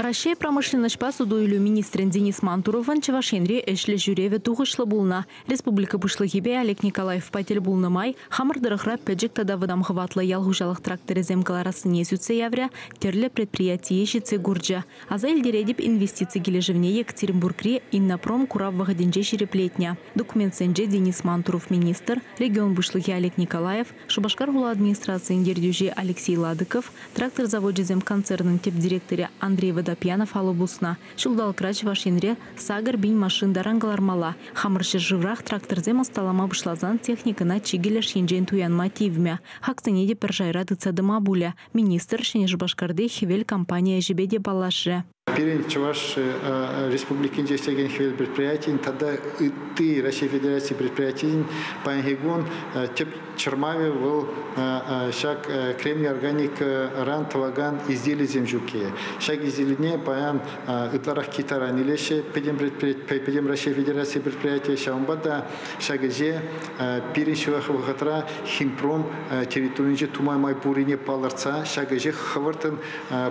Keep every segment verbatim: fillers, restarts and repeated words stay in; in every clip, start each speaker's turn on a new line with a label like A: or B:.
A: Раҫҫей промышленноҫпа суту-илӳ министрӗн Денис Мантуровӑн Чӑваш Енре ӗҫлӗ ҫӳревӗ тухӑҫлӑ пулнӑ. Республика Пуҫлӑхӗпе Олег Николаевпа тӗл пулнӑ май хамӑр тӑрӑхра пӗчӗк тата вӑтам хӑватлӑ ял хуҫалӑх тракторӗсем кӑларассине сӳтсе яврӗ, тӗрлӗ предприятие ҫитсе курчӗ. Аса илтеретӗп, инвестици килӗшӗвне Екатеринбургри Иннопром курав вӑхӑтӗнче ҫирӗплетнӗ. Документсенче Денис Мантуров министр, регион Пуҫлӑхӗ Олег Николаев, Шупашкар хула администрацийӗн ертӳҫи Алексей Ладыков, трактор завочӗсем концернӑн тӗп директорӗ Андрей Водопьянов алӑ пуснӑ. Ҫулталӑкра Чӑваш Енре сакӑр пин машин таран кӑлармалла. Хамӑр ҫӗршыврах тракторсем ӑсталама пуҫласан техникӑна чикӗ леш енчен туянма тивмӗ. Хаксене те пӗр шайра тытса тӑма пулӗ. Министр Ҫӗнӗ Шупашкарти «Хӗвел» компани ӗҫӗпе те паллашрӗ.
B: Пирӗн Чӑваш Республикинче ӗҫлекен «Хӗвел» предприятийӗн тата ытти Раҫҫей Федераци предприятийӗн паянхи кун тӗп чӑрмавӗ вӑл ҫак кремний органикӑран тӑвакан изделисем ҫукки. Ҫак изделине паян ытларах Китайран илеҫҫӗ, пӗтӗм Раҫҫей Федераци предприятийӗ. Ҫавӑнпа та ҫак ӗҫе пирӗн ҫывӑх вӑхӑтра Химпром территорийӗнче тума май пуррине палӑртса ҫак ӗҫе хӑвӑрттӑн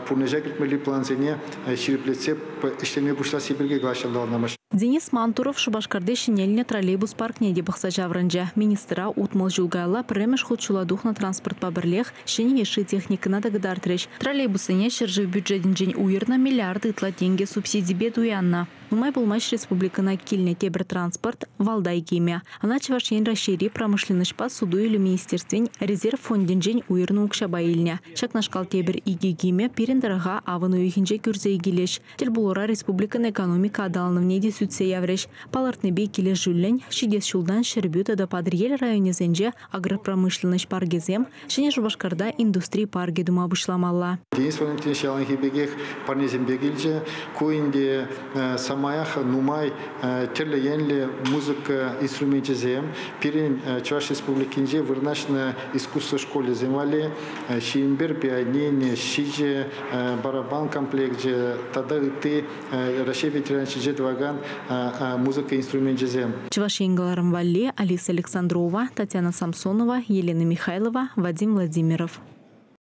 B: пурнӑҫа кӗртмелли плансене ҫирӗплетсе ӗҫлеме пуҫласси пирки калаҫса.
A: Денис Мантуров Шупашкарти ҫӗнелнӗ троллейбус паркне те пӑхса ҫаврӑнчӗ. Министра утмӑл ҫул каялла пӗрремӗш хут ҫула тухнӑ транспортпа пӗрлех ҫӗнӗ йышши техникӑна та кӑтартрӗҫ. Троллейбуссене ҫӗршыв бюджетӗнчен уйӑрнӑ миллиард ытла тенкӗ субсидипе туяннӑ. Нумай пулмасть республикӑна килнӗ тепӗр транспорт «Валдай» кимӗ. Ӑна Чӑваш Ен Раҫҫейри промышленноҫпа суту-илӳ министерствин резерв фондӗнчен уйӑрнӑ укҫапа илнӗ. Ҫакнашкал тепӗр икӗ кимӗ пирӗн тӑрӑха авӑн уйӑхӗнче кӳрсе килӗҫ. Тӗл пулура республикӑн экономика аталанӑвне те сӳтсе яврӗҫ. Палӑртнипе килӗшӳллӗн ҫитес ҫултан Ҫӗрпӳ тата Патӑрьел районӗсенче агропромышленноҫ паркӗсем, Ҫӗнӗ Шупашкарта индустри паркӗ тума пуҫламалла.
B: Денис Валентинович яланхи пекех парнесемпе килчӗ. Ку ӗнтӗ самаях нумай тӗрлӗ енлӗ музыка инструменчӗсем. Пирӗн Чӑваш Республикинче вырнаҫнӑ искусство школӗсем валли ҫирӗм пӗр пианино, ҫичӗ барабан комплекчӗ тата ытти Раҫҫей Федерацийӗнче тӑвакан музыка инструменчӗсем.
A: Чӑваш Ен кӑларӑм валли Алиса Александрова, Татьяна Самсонова, Елена Михайлова, Вадим Владимиров.